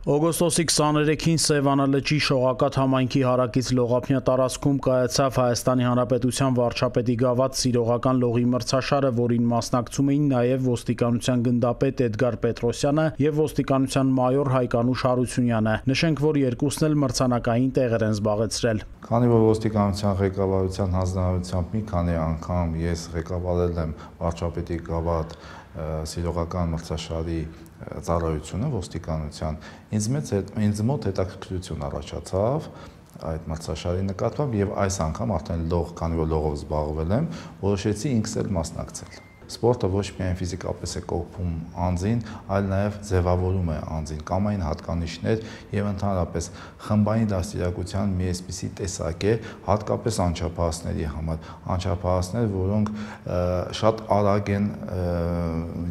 Օգոստոսի 23-ին Սևանա լճի Շողակաթ համայնքի հարակից Լողափնյա տարածքում կայացավ Հայաստանի Հանրապետության վարչապետի գավաթ սիրողական լողի մրցաշարը, որին մասնակցում էին նաև ոստիկանության գնդապետ Էդգար Պետրոսյանը և ոստիկանության մայոր Հայկանուշ Հարությունյանը։ Նշենք, որ երկուսն էլ մրցանակային տեղեր են զբաղեցրել։ Քանի որ ոստիկանության ղեկավարության հանձնարարությամբ մի քանի անգամ ես ղեկավարել եմ վարչապետի գավաթ սիրողական մրցաշարի ծառայությունը ոստիկանության, ինձ մոտ հետաքրքրություն առաջացավ այդ մրցաշարի նկատմամբ եւ այս անգամ արդեն քանի որ լողով զբաղվել եմ, որոշեցի ինքս էլ մասնակցել։ Սպորտը ոչ միայն ֆիզիկապես է կոփում անձին, այլ նաև ձևավորում է անձին, կամային հատկանիշներ եւ ընդհանրապես խմբային դաստիարակության մի այսպիսի տեսակ է, հատկապես անչափահասների համար, անչափահասներ, որոնք շատ արագ են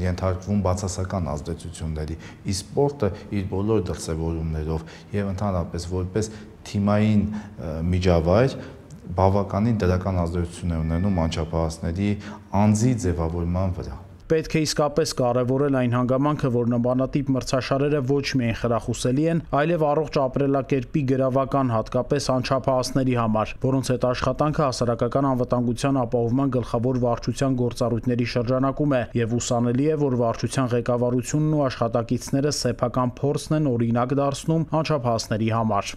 ենթարկվում բացասական ազդեցությունների, իսկ սպորտը իր բոլոր դրսևորումներով եւ ընդհանրապես որպես թիմային միջավայր բավականին դրական ազդեցություն է ունենում անչափահասների անձի ձևավորման վրա։ Պետք է իսկապես կարևորել այն հանգամանքը, որ նմանատիպ մրցաշարերը ոչ միայն խրախուսելի են, այլև առողջ ապրելակերպի գրավական, հատկապես անչափահասների համար, որոնց հետ աշխատանքը հասարակական անվտանգության ապահովման գլխավոր վարչության գործառույթների շրջանակում է, եւ ուսանելի է, որ վարչության ղեկավարությունն ու աշխատակիցները սեփական փորձն են օրինակ դարձնում անչափահասների համար։